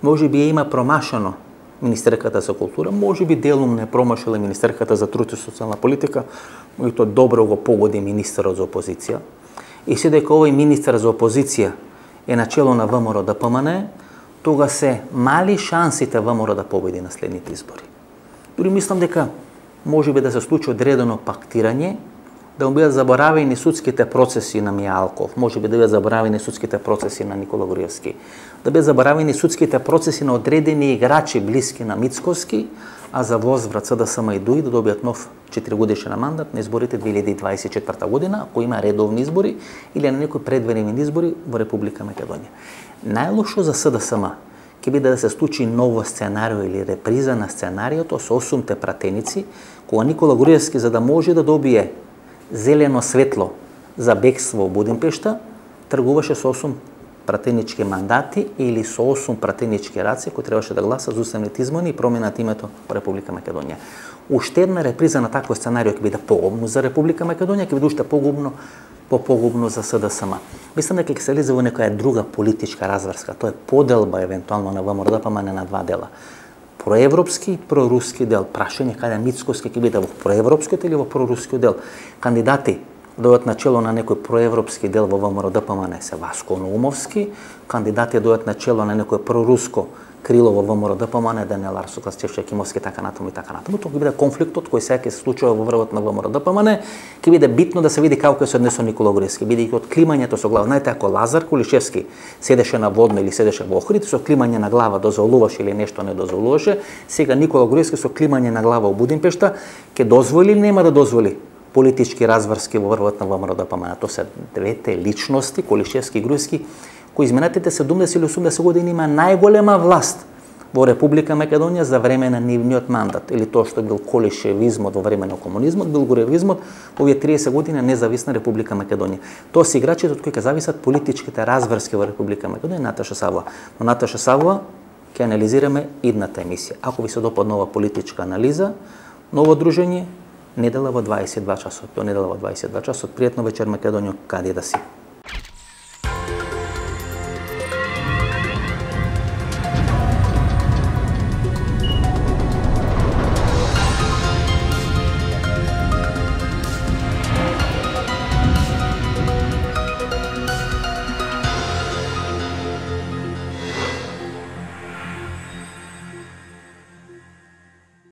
може би има промашено министерката за култура, може би делум не промашила министерката за труд и социјална политика, меѓутоа добро го погоди министерот за опозиција. И се дека овој министер за опозиција е начело на ВМРО-ДПМН, тога се мали шансите ВМРО да победи на следните избори. Дури мислам дека може би да се случи одредено пактирање, да му бидат заборавени судските процеси на Мијалков, може би да бидат заборавени судските процеси на Никола Груевски, да бидат заборавени судските процеси на одредени играчи блиски на Мицкоски, а за возврат СДСМ и ДУИ да добијат нов четиригодишен мандат на изборите две илјади дваесет и четврта година, ако има редовни избори или на некои предвременни избори во Република Македонија. Најлошо за СДСМ ќе биде да се случи ново сценарио или реприза на сценариото со осумте пратеници, кога Никола Груевски, за да може да добие зелено светло за бегство во Будимпешта, тргуваше со осум пратенички мандати или со осум пратенички раци кои требаше да гласат за уставните измени и променат името во Република Македонија. Уште една реприза на такво сценарио ќе биде погубно за Република Македонија, ќе биде уште погубно, по-погубно за СДСМ. Мислам дека ќе се лезе во некоја друга политичка разврска. Тоа е поделба евентуално на ВМРО-ДПМН на два дела. Проевропски и проруски дел. Прашање каде Мицкоски ќе биде во проевропскиот или во прорускиот дел. Кандидати дојдат на чело на некој проевропски дел во ВМРО-ДПМН се Васко Наумовски, кандидати дојдат на чело на некој проруско крило во ВМРО-ДПМН, Даниел Арсуклас, Чевче Кимовски, така натаму и така натаму. Тоа ќе биде конфликтот кој сега ќе се случува во врвот на ВМРО-ДПМН, ќе биде битно да се види како ќе се однесува Никола Груевски, бидејќи од климањето со глава, знаете, ако Лазар Кулишевски седеше на Водно или седеше во Охрид, со климање на глава дозволуваше или нешто не дозволуваше, сега Никола Груевски со климање на глава во Будимпешта ќе дозволи или нема да дозволи политички разврски во врвот на ВМРО-ДПМН. Тоа се двете личности, Кулишевски и Груевски, кои изминатите седумдесет или осумдесет години има најголема власт во Република Македонија за време на нивниот мандат, или тоа што бил колишевизмот во време на комунизмот, бил груевизмот во овие триесет години независна Република Македонија. Тоа се играчите од кои ќе зависат политичките разврски во Република Македонија, Наташа Савова. Но Наташа Савова ќе анализираме идната емисија. Ако ви се допадна ова политичка анализа, ново дружење, недела во дваесет и два часот. До недела во дваесет и два часот. Пријатно вечер, Македонија, каде да си.